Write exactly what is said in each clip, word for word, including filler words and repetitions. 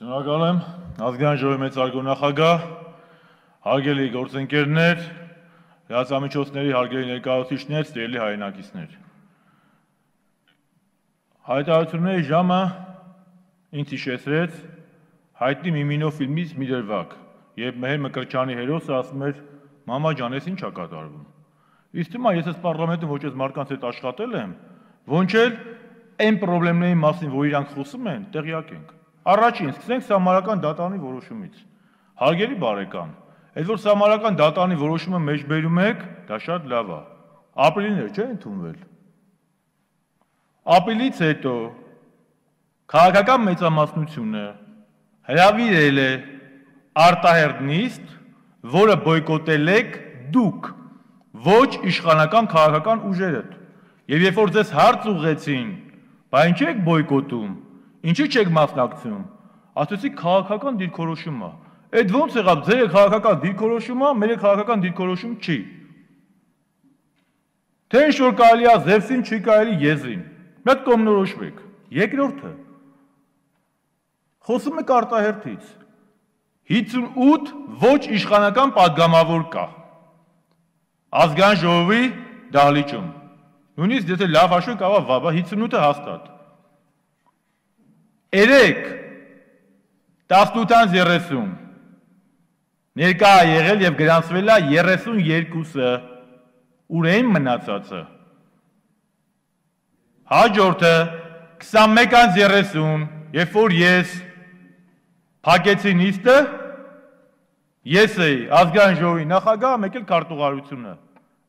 Շնորհակալ եմ, ազգային ժողովի մեծարգո նախագահ, հարգելի գործընկերներ, լրատվամիջոցների հարգելի ներկայացուցիչներ, սիրելի հայրենակիցներ։ Հայտարարությունների ժամը ինձ հիշեցրեց հայտնի Միմինո ֆիլմից մի դրվագ, երբ Մեհեր Մկրտչյանի հերոսը ասում էր «Մամա ջան, ես ինչ ա կատարվում»։ Իսկ թվում է, ես այս պարլամենտում ոչ այս մարդկանց հետ աշխատել եմ, ոչ էլ այն խնդիրների մասին, որ իրանք խոսում են, տեղյակ ենք։ Առաջին, սկսենք Սահմանադրական դատարանի որոշումից։ Հարգելի բարեկամ, այդ որ Սահմանադրական դատարանի որոշումը մեջբերում եք, դա շատ լավ է։ Ապրիլին չէ՞ ընդունվել։ Ապրիլից հետո քաղաքական մեծամասնությունը հրավիրել է արտահերթ նիստ, որը բոյկոտել եք դուք, ոչ իշխանական քաղաքական ուժերը։ Եվ երբ որ ձեզ հարց ուղղեցին, բա ինչի եք բոյկոտում, ինչի չեք մասնակցում, ասեցիք քաղաքական դիրքորոշում է։ Այդ ո՞նց եղավ, ձեր քաղաքական դիրքորոշումը, մեր քաղաքական դիրքորոշում չի։ Թե ինչ որ կարելի է Զևսին, չի կարելի եզրին։ Մեկ կողմնորոշվեք։ Երկրորդը, խոսում եք արտահերթից։ հինգսունութ ոչ իշխանական պատգամավոր կա ազգային ժողովի դահլիճում։ Նույնիսկ եթե լավ հաշվեք, կարող է հինգսունութը հաստատ։ երեք տասնութից երեսուն ներկա է եղել եւ գրանցվել է երեսունյոթը, ուր էին մնացածը։ Հաջորդը քսանմեկից երեսուն, երբ որ ես փակեցի նիստը, ես էի ազգային ժողովի նախագահը, մեկ էլ քարտուղարությունը։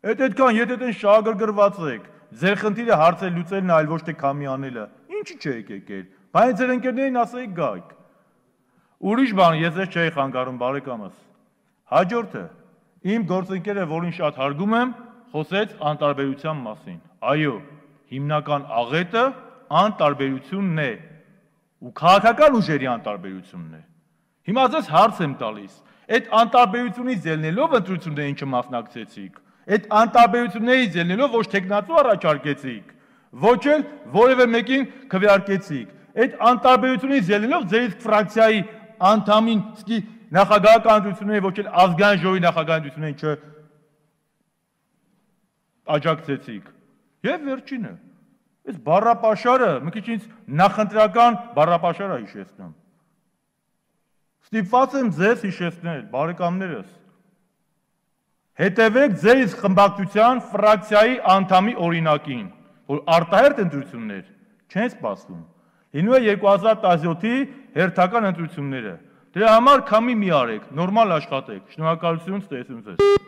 Այդ այդքան, եթե այդեն շահագրգռված եք, ձեր խնդիրը հարցեր լուծելն այլ ոչ թե քամի անելը, ինչի՞ չեք եկել, բայց ձեր ընկերներին ասեիք գայք։ Ուրիշ բան, ես ես չէի խանգարում, բարեկամս։ Հաջորդը, իմ գործընկերը, որին շատ հարգում եմ, խոսեց անտարբերության մասին։ Այո, հիմնական աղետը անտարբերությունն է, ու քաղաքական ուժերի անտարբերությունն է։ Հիմա ձեզ հարց եմ տալիս, այդ անտարբերությունից ելնելով ընտրություններին չմասնակցեցիք, այդ անտարբերություններից ելնելով ոչ թեկնածու առաջարկեցիք, ոչ էլ որևէ մեկին քվեարկեցիք։ Այդ անտարբերությունից ելնելով ձեր ֆրակցիայի անդամին սկի նախագահական ընտրությունների ոչ էլ ազգային ժողովի նախագահական ընտրություններին չաջակցեցիք։ Եվ վերջինը, այս բառապաշարը, մի քիչ ինձ նախընտրական բառապաշարը հիշեցնում։ Ստիպված եմ ձեզ հիշեցնել, բարեկամներս, հետևեք ձեր իսկ խմբակցության ֆրակցիայի անդամի օրինակին, որ արտահերթ ընտրություններ չեն սպասվում։ Լինում է երկու հազար տասնյոթի հերթական ընտրությունները։ Դրա համար քամի մի արեք, նորմալ աշխատեք։ Շնորհակալություն, ցտեսություն ձեզ։